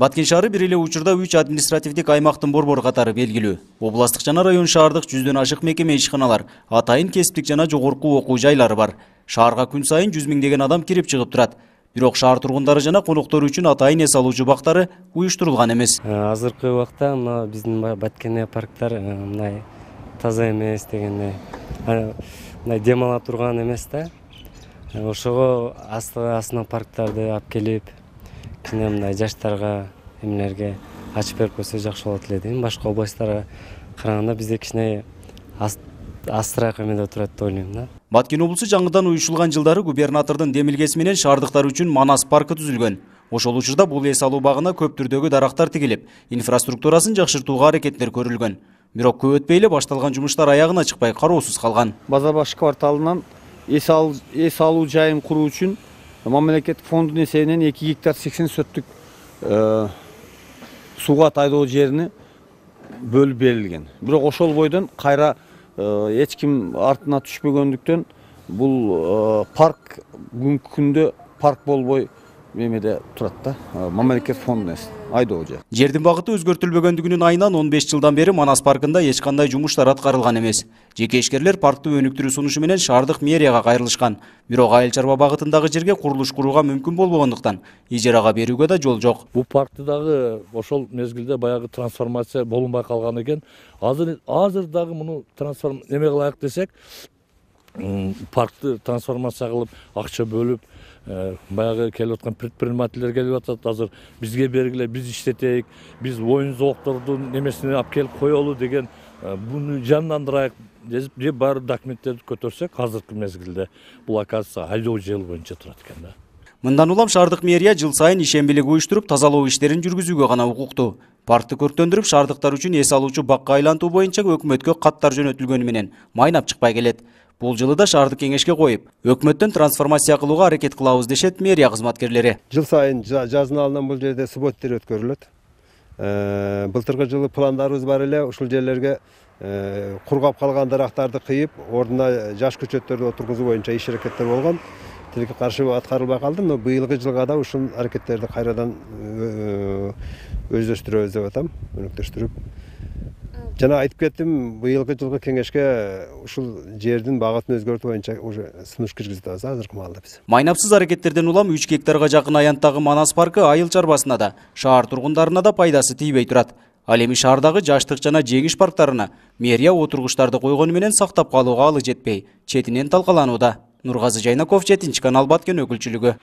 Баткен шаары бир эле учурда 3 административдик аймактын борбору катары белгилүү. Областык жана район шаардык 100дөн ашык мекеме ишканалар, атайын кесиптик жана жогорку окуу жайлары бар. Шаарга күн сайын 100 миңдеген адам кирип чыгып турат. Бирок шаар тургундары жана коноктору үчүн атайын эс алуучу бактары уюштурулган эмес. Азыркы убакта мына биздин Баткен парктар мындай таза эмес дегендей. Мындай дем ала турган эмес да. Ошого астына парктарды алып келип, кичине мындай жаштарга, эмнелерге ачып берип койсо жакшы болот эле дейм. Башка областтарга караганда бизде кичине астыраак эмеде турат деп ойлойм да. Баткен облусу жаңыдан уюшулган жылдары губернатордун демилгеси менен шаардыктар үчүн Манас паркы түзүлгөн. Ошол учурда бул эс алуу багына көп түрдөгү дарактар тигилип, инфраструктурасын жакшыртууга аракеттер көрүлгөн. Бирок көп өтпөй эле башталган жумуштар аягына чыкпай кароосуз калган. Базарбаш кварталынан эс алуу жайын куруу үчүн мамлекеттик фонддун эсебинен 2 гектар 80 сөттүк сууга тайдоо жерини бөлүп берилген. Бирок ошол бойдон кайра эч ким артына түшпөгөндүктөн бул парк бүгүнкү күндө парк болбой мемеде турат да. Мамлекет фондунан айдоо жер. Жердин багыты өзгөртүлбөгөндүгүнүн айынан 15 жылдан бери Манас паркында эч кандай жумуштар аткарылган эмес. Жеке ишкерлер паркты өнүктүрүү сунушу менен шаардык мэрияга кайрылышкан. Бирок айыл чарба багытындагы жерге курулуш курууга мүмкүн болбогондуктан ижарага берүүгө да жол жок. Бул паркты дагы ошол мезгилде баягы трансформация болунбай калган экен. Азыр дагы муну эме кылайык десек, паркты трансформация кылып, акча бөлүп, баягы келип аткан предпринимательдер келип атат. Азыр бизге бергиле, биз иштетейик, биз оюн зооктордун немесине алып келип коелу деген буну жандандырайык деп баары документтерди көтөрсөк, азыркы мезгилде бул оказывается айдоо жыл боюнча турат экен да. Мындан улам шаардык мэрия жыл сайын ишембилик уюштуруп, тазалоо иштерин жүргүзүүгө гана укуктуу. Паркты көрктөндүрүп, шаардыктар үчүн эс алуучу бакка айлантуу боюнча өкмөткө каттар жөнөтүлгөнү менен майнап чыкпай келет. Бул жылы да шаардык кеңешке коюп, өкмөттөн трансформация кылууга аракет кылабыз дешет мэрия кызматкерлери. Жыл сайын жазын алынан бул жерде субботтер өткөрүлөт. Былтыркы жылы пландарыбыз бар эле, ушул жерлерге кургап калган дарактарды кыйып, ордуна жаш көчөттөрдү отургузуу боюнча иш аракеттер болгон. Тилекке каршы аткарылбай калды, но быйылкы жылга да ушул аракеттерди кайрадан өздөштүрөбүз деп атам, өнүктүрүп. Жана айтып кеттим, быйылкы жылкы кеңешке ушул жердин багытын өзгөртүү боюнча уже сунуш киргизип атабыз азыркы маалда биз. Майнапсыз аракеттерден улам 3 гектарга жакын аянттагы Манас паркы айыл чарбасына да, шаар тургундарына да пайдасы тийбей турат. Ал эми шаардагы жаштык жана жеңиш парктарына мэрия отургучтарды койгону менен сактап калууга алы жетпей, четинен талкаланууда. Нургазы Жайнаков, 7 канал, Баткен өкүлчүлүгү.